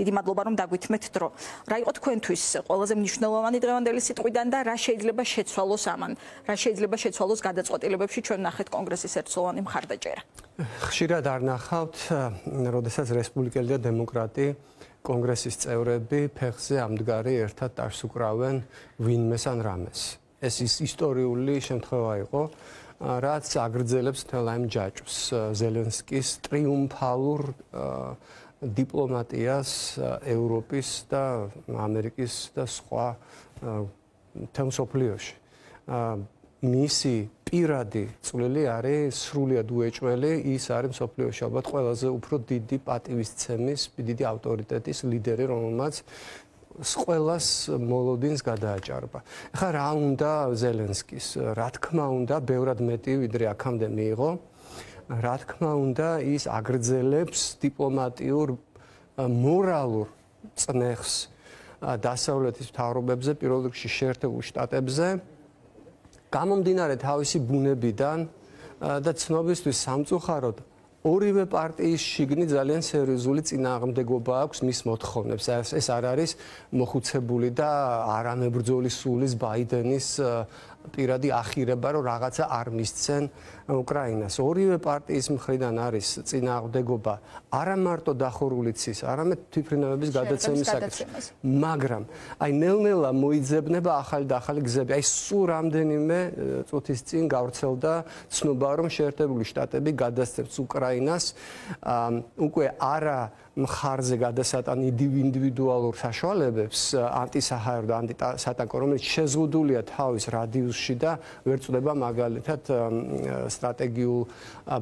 დიდი მადლობა რომ დაგვითმეთ დრო. რა იყო თქვენთვის ყველაზე მნიშვნელოვანი დღევანდელი სიტყვიდან და რა შეიძლება შეცვალოს ამან? რა შეიძლება შეცვალოს გადაწყვეტილებებში ჩვენ ნახეთ კონგრესის ერთწლოვანი მხარდაჭერა? ხშირად არ ნახავთ, როდესაც რესპუბლიკელი და დემოკრატი კონგრესის წევრები ფეხზე ამდგარი ერთად ტარს უკრავენ ვინმეს ან რამეს. ეს ისტორიული შემთხვევა იყო, რაც აგრძელებს მთელ ამ ჯაჭვს ზელენსკის ტრიუმფალურ დიპლომატიას ევროპის და ამერიკის და სხვა მთელ მსოფლიოში. მისი პირადი წვლილი არის სრულიად უეჭველი, ის არის მსოფლიოში ალბათ ყველაზე უფრო დიდი პატივისცემის, დიდი ავტორიტეტის ლიდერი, რომელმაც ყველას მოლოდინს გადააჭარბა. ახლა რა უნდა ზელენსკის? რა თქმა უნდა, ბევრად მეტი ვიდრე აქამდე მიიღო. რა თქმა უნდა, ის აგრძელებს დიპლომატიურ მორალურ წნეხს დასავლეთის მთავრობებზე, პირველ რიგში შეერთებულ შტატებზე. გამომდინარე თავისი ბუნებიდან და ცნობისთვის სამწუხაროდ ორივე პარტიის შიგნით ძალიან სერიოზული წინააღმდეგობა აქვს მის მოთხოვნებს. ეს არ არის მოხუცებული და არამებრძოლი სულის ბაიდენის პირადი ახირება, რომ რაღაცა არ მისცენ უკრაინას. ორივე პარტიის მხრიდან არის წინააღმდეგობა არა მარტო დახურული ცის, არამედ თვითმფრინავების გადაცემის საკითხი. მაგრამ აი ნელ-ნელა მოიძებნება ახალი და ახალი გზები. აი სულ რამდენიმე წუთის წინ გავრცელდა ცნობა, რომ შეერთებული შტატები გადასცემს უკრაინას უკვე არა მხარზე გადასატან ინდივიდუალურ საშუალებებს ანტისაჰაერო და ანტისატანკო, რომელიც შეზღუდულია თავის რადიუსში და ვერ წდება მაგალითად სტრატეგიულ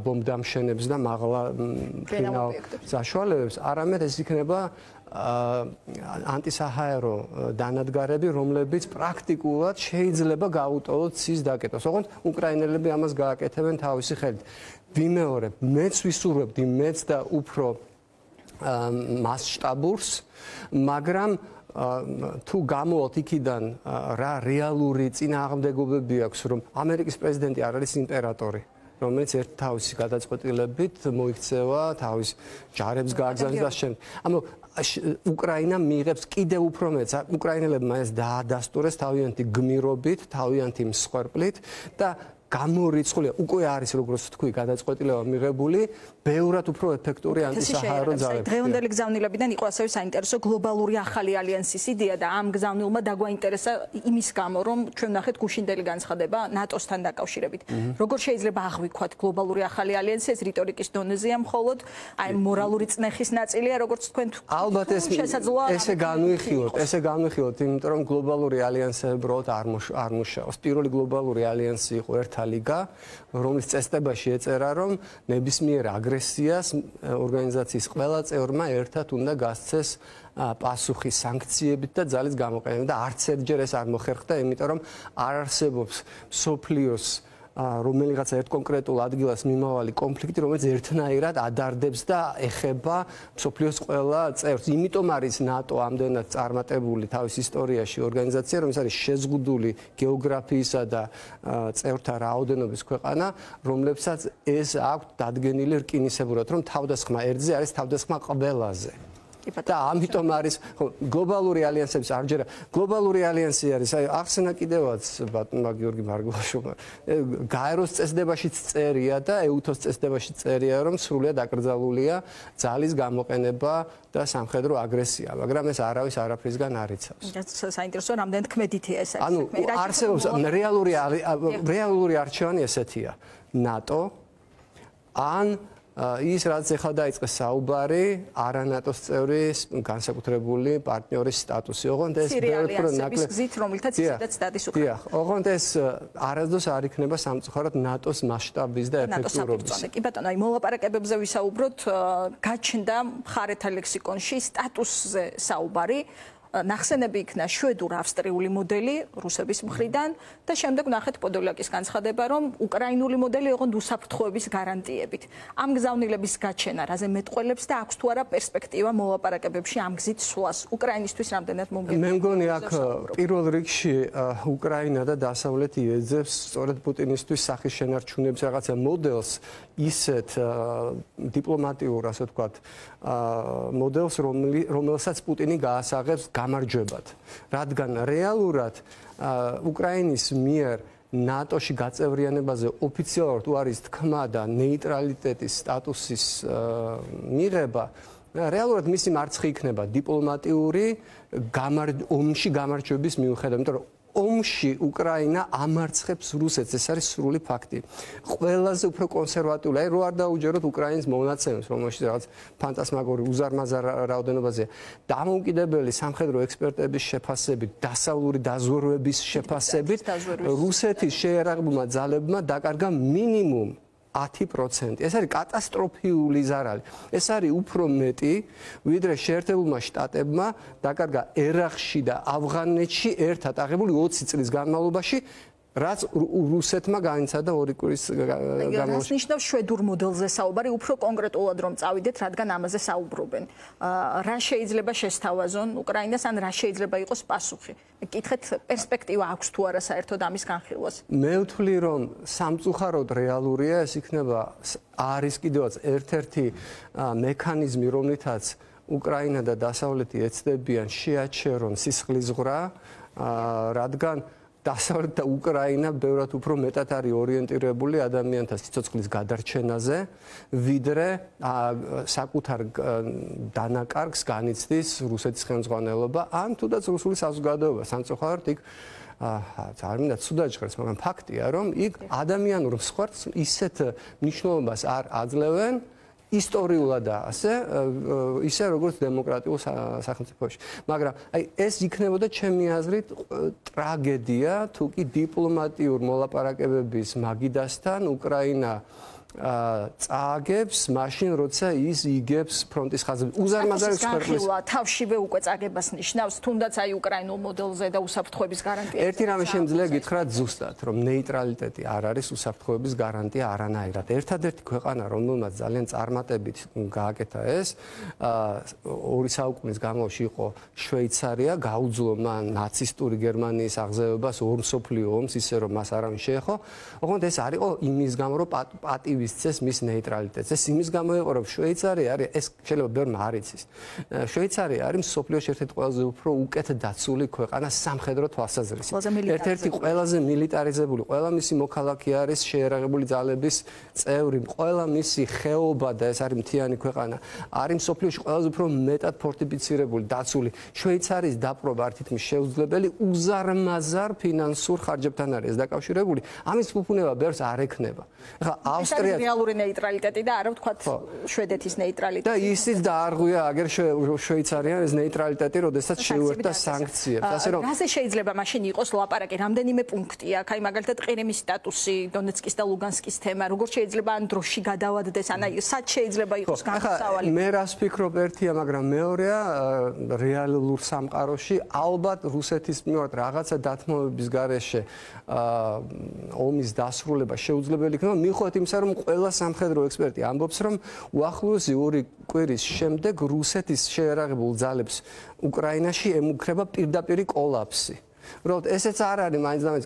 ბომბდამშენებს და მაღლა ფინალ საშუალებებს, არამედ ეს იქნება ანტისაჰაერო დანადგარები, რომლებიც პრაქტიკულად შეიძლება გაუტოლოთ ცის დაკეტოს. ოღონდ უკრაინელები ამას გააკეთებენ თავისი ხელით. ვიმეორებ, მეც ვისურვებდი მეც და უფრო მასშტაბურს, მაგრამ თუ გამოვალთ იქიდან რა რეალური წინააღმდეგობები აქვს, რომ ამერიკის პრეზიდენტი არ არის იმპერატორი, რომელიც ერთ თავისი გადაწყვეტილებით მოიქცევა თავის ჯარებს გააგზავნის და შემდეგ. ანუ უკრაინა მიიღებს კიდევ უფრო მეტს. უკრაინელებმა ეს დაადასტურეს თავიანთი გმირობით, თავიანთი მსხვერპლით და გამორიცხულია, უკვე არის როგორც თქვი, გადაწყვეტილება მიღებული, ბევრად უფრო ეფექტური ანტისაჰაერო ძალები. დღევანდელი გზავნილებიდან იყო ასევე საინტერესო გლობალური ახალი ალიანსის იდეა და ამ გზავნილმა დაგვაინტერესა იმის გამო, რომ ჩვენ ნახეთ გუშინდელი განცხადება ნატოსთან დაკავშირებით. როგორ შეიძლება აღვიქვათ გლობალური ახალი αλიანსი, ეს რიტორიკის დონეზეა მხოლოდ, აი მორალური წნეხის ნაწილია, როგორც თქვენ ალბათ ესე განვიხილოთ, იმიტომ რომ გლობალური ალიანსები უბრალოდ არ მუშაობს. პირველი გლობალური ალიანსი იყო ლიგა, რომლის წესდებაში ეწერა, რომ ნებისმიერ აგრესიას ორგანიზაციის ყველა წევრმა ერთად უნდა გასცეს პასუხი სანქციებით და ძალის გამოყენებით და არც ერთჯერ ეს არ მოხერხდა, იმიტომ რომ არ არსებობს მსოფლიოს რომელიღაცა ერთ კონკრეტულ ადგილას მიმავალი კონფლიქტი, რომელიც ერთნაირად ადარდებს და ეხება მსოფლიოს ყველა წევრს. იმიტომ არის ნატო ამდენად წარმატებული თავის ისტორიაში ორგანიზაცია, რომელიც არის შეზღუდული გეოგრაფიისა და წევრთა რაოდენობის ქვეყანა, რომლებსაც ეს აქვს დადგენილი რკინისებურად, რომ თავდასხმა ერთზე არის თავდასხმა ყველაზე. და ამიტომ არის გლობალური ალიანსების არჯერა გლობალური ალიანსი არის აი ახსენა კიდევაც ბატონმა გიორგი მარგულაშვილმა გაეროს წესდებაშიც წერია და ეუთოს წესდებაშიც წერია რომ სრულიად აკრძალულია ძალის გამოყენება და სამხედრო აგრესია მაგრამ ეს არავის არაფრისგან არ იცავს. საინტერესო რამდენ თქმედითია ეს არის. ანუ არსებობს რეალური არჩევანი ესეთია ნატო ან ის რაც ეხლა დაიწყეს საუბარი არანატოს წევრის განსაკუთრებული პარტნიორის სტატუსი. ოღონდ ეს ბევრად ნაკლები გზით რომელთაც ისედაც სტატის უკრა. დიახ, ოღონდ ეს არასდროს არ იქნება სამწუხაროდ ნატოს მასშტაბის და ეფექტურობის. კი ბატონო, აი მოლაპარაკებებზე ვისაუბროთ, გაჩნდა მხარეთა ლექსიკონში სტატუსზე საუბარი. ნახსენები იქნა შვედურ-ავსტრიული მოდელი რუსების მხრიდან და შემდეგ ნახეთ პოდოლაკის განცხადება, რომ უკრაინული მოდელი ოღონდ უსაფრთხოების გარანტიებით. ამ გზავნილების გაჩენა რაზე მეტყველებს და აქვს თუ არა პერსპექტივა მოლაპარაკებებში ამ გზით სვლას უკრაინისთვის რამდენად მომგებია? მე მგონი აქ პირველ რიგში უკრაინა და დასავლეთი ეძებს სწორედ პუტინისთვის სახის შენარჩუნების რაღაცა მოდელს ისეთ დიპლომატიურ, ასე ვთქვათ, მოდელს, რომელსაც პუტინი გაასაღებს გამარჯვებად. რადგან რეალურად უკრაინის მიერ ნატოში გაწევრიანებაზე ოფიციალურად უარის თქმა და ნეიტრალიტეტის სტატუსის მიღება, რეალურად მისი მარცხი იქნება დიპლომატიური ომში გამარჯვების მიუხედავად, იმიტომ რომ ომში უკრაინა ამარცხებს რუსეთს, ეს არის სრული ფაქტი. ყველაზე უფრო კონსერვატიული, აი რო არ დაუჯეროთ უკრაინის მონაცემებს, რომელშიც რაღაც ფანტასმაგორი უზარმაზარ რაოდენობაზე დამოუკიდებელი სამხედრო ექსპერტების შეფასებით, დასავლური დაზვერვების შეფასებით, რუსეთის შეერაღებულმა ძალებმა დაკარგა მინიმუმ 10%. ეს არის კატასტროფიული ზარალი. ეს არის უფრო მეტი, ვიდრე შეერთებულმა შტატებმა დაკარგა ერაყში და ავღანეთში ერთად აღებული 20 წლის განმავლობაში, რაც რუსეთმა განიცადა 2 კვირის განმავლობაში. რას ნიშნავს შვედურ მოდელზე საუბარი, უფრო კონკრეტულად რომ წავიდეთ, რადგან ამაზე საუბრობენ. რა შეიძლება შესთავაზონ უკრაინას, ან რა შეიძლება იყოს პასუხი? კითხეთ, პერსპექტივა აქვს თუ არა საერთოდ ამის განხილვას? მე ვთვლი, რომ სამწუხაროდ რეალურია, ეს იქნება არის კიდევაც ერთ-ერთი მექანიზმი, რომლითაც უკრაინა და დასავლეთი ეცდებიან შეაჩერონ სისხლისღვრა, რადგან დასავლეთ და უკრაინა ბევრად უფრო მეტად არის ორიენტირებული ადამიანთა სიცოცხლის გადარჩენაზე, ვიდრე საკუთარ დანაკარგს განიცდის რუსეთის ხელმძღვანელობა, ან თუნდაც რუსული საზოგადოება. სამწუხაროდ იქ არ მინდა ცუდად ჟღერს, მაგრამ ფაქტია, რომ იქ ადამიანურ მსხვერპლს ისეთ მნიშვნელობას არ აძლევენ ისტორიულად და ისე როგორც დემოკრატიულ სახელმწიფოში. მაგრამ აი ეს იქნებოდა ჩემი აზრით ტრაგედია, თუ კი დიპლომატიურ მოლაპარაკებების მაგიდასთან უკრაინა წააგებს მაშინ, როცა ის იგებს ფრონტის ხაზზე. უზარმაზარი მსხვერპლის თავშივე უკვე წაგებას ნიშნავს, თუნდაც აი უკრაინულ მოდელზე და უსაფრთხოების გარანტია. ერთი რამე შემიძლია გითხრათ ზუსტად, რომ ნეიტრალიტეტი არ არის უსაფრთხოების გარანტია არანაირად. ერთადერთი ქვეყანა, რომელმაც ძალიან წარმატებით გააკეთა ეს, 2 საუკუნის განმავლობაში იყო შვეიცარია, გაუძლო მან ნაცისტური გერმანიის აღზევებას ორ მსოფლიო ომს, ისე რომ მას არავინ შეეხო. ოღონდ ეს არისო იმის გამო, რომ პატივისცეს მის ნეიტრალიტეტს. ეს იმის გამო იყო, რომ შვეიცარია არის, ეს შეიძლება ბევრმა არ იცის. შვეიცარია არის მსოფლიოში ერთ-ერთი ყველაზე უფრო უკეთ დაცული ქვეყანა სამხედრო თვალსაზრისით. ერთ-ერთი ყველაზე მილიტარიზებული, ყველა მისი მოქალაქე არის შეერაღებული ძალების წევრი, ყველა მისი ხეობა და ეს არის მთიანი ქვეყანა. არის მსოფლიოში ყველაზე უფრო მეტად ფორტიფიცირებული, დაცული. შვეიცარიის დაპყრობა არ თითქმის შეუძლებელი, უზარმაზარ ფინანსურ ხარჯებთან არის დაკავშირებული. ამის ფუფუნება ბევრს არ ექნება. ახლა ავსტრია რეალური ნეიტრალიტეტი და არა ვთქვათ შვედეთის ნეიტრალიტეტი. და ისიც დაარღვია აგერ შვეიცარიამ ეს ნეიტრალიტეტი, როდესაც შეუერთდა სანქციებს. ასე რომ რაზე შეიძლება მაშინ იყოს ლაპარაკი? რამდენიმე პუნქტი აქვს, აი მაგალითად ყირიმის სტატუსი, დონეცკის და ლუგანსკის თემა, როგორ შეიძლება ან დროში გადავადდეს, ან აი სად შეიძლება იყოს განსავალი? მე რას ვფიქრობ, ერთია, მაგრამ მეორეა რეალურ სამყაროში ალბათ რუსეთის მიმართ რაღაცა დათმობების გარეშე ომის დასრულება შეუძლებელი იქნება, მიუხედავად იმისა, რომ ყველა სამხედრო ექსპერტი ამბობს, რომ უახლოესი 2 კვირის შემდეგ რუსეთის შეერაღებულ ძალებს უკრაინაში ემუქრება პირდაპირი კოლაფსი. უბრალოდ ესეც არ არის მაინც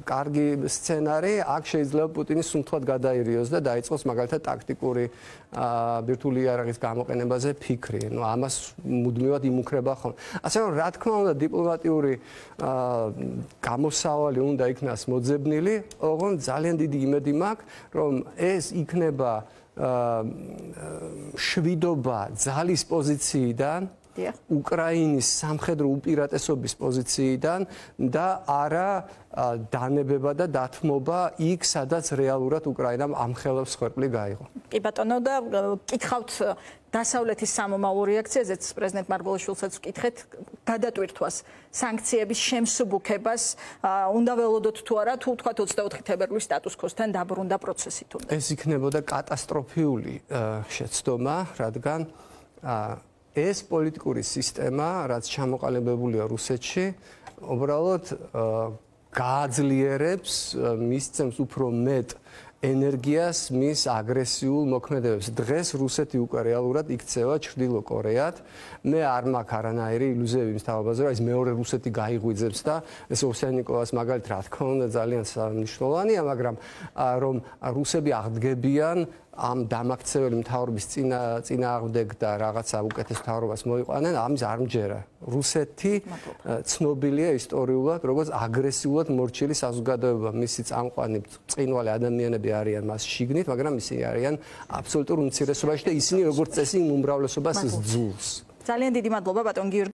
კარგი სცენარი, აქ შეიძლება პუტინი სუნთქად გადაირიოს და დაიწყოს მაგალითად ტაქტიკური ბირთვული იარაღის გამოყენებაზე ფიქრი. ამას მუდმივად იმუქრება ხოლმე. ასე რომ რა თქმა უნდა დიპლომატიური გამოსავალი უნდა იქნას მოძებნილი, ოღონდ ძალიან დიდი იმედი მაქვს, რომ ეს იქნება შვიდობა ძალის პოზიციიდან, უკრაინის სამხედრო უპირატესობის პოზიციიდან და არა დანებება და დათმობა იქ, სადაც რეალურად უკრაინამ ამხელებს ხერხლი გაიღო. კი ბატონო, და კითხავთ დასავლეთის სამომავლო რეაქციაზეც პრეზიდენტ მარგველიშვილსაც ვკითხეთ, გადატვირთვას სანქციების შემსუბუქებას უნდა ველოდოთ თუ არა, თუ თქვათ 24 თებერვლის სტატუს-კვოსთან დაბრუნდა პროცესი თუნდაც. ეს იქნებოდა კატასტროფიული შეცდომა, რადგან ეს პოლიტიკური სისტემა, რაც ჩამოყალიბებულია რუსეთში, უბრალოდ გააძლიერებს, მისცემს უფრო მეტ ენერგიას მის აგრესიულ მოქმედებებს. დღეს რუსეთი უკვე რეალურად იქცევა ჩრდილო კორეად. მე არ მაქვს არანაირი ილუზიები იმის თავაზე, რომ ეს მეორე რუსეთი გაიღვიძებს და ეს ოვსიანიკოვას მაგალითად რა თქმა უნდა ძალიან მნიშვნელოვანია, მაგრამ რომ რუსები აღდგებიან ამ დამაქცეველი მთავრობის წინააღმდეგ და რაღაცა უკეთეს მთავრობას მოიყვანენ, ამის არ მჯერა. რუსეთი ცნობილია ისტორიულად, როგორც აგრესიულად მორჩილი საზოგადოება. მისი წამყვანი წინვალი ადამიანები არიან მას შიგნით, მაგრამ ისინი არიან აბსოლუტურ უმცირესობაში და ისინი როგორც წესი უმრავლესობას სძულს. ძალიან დიდი მადლობა ბატონ გიორგი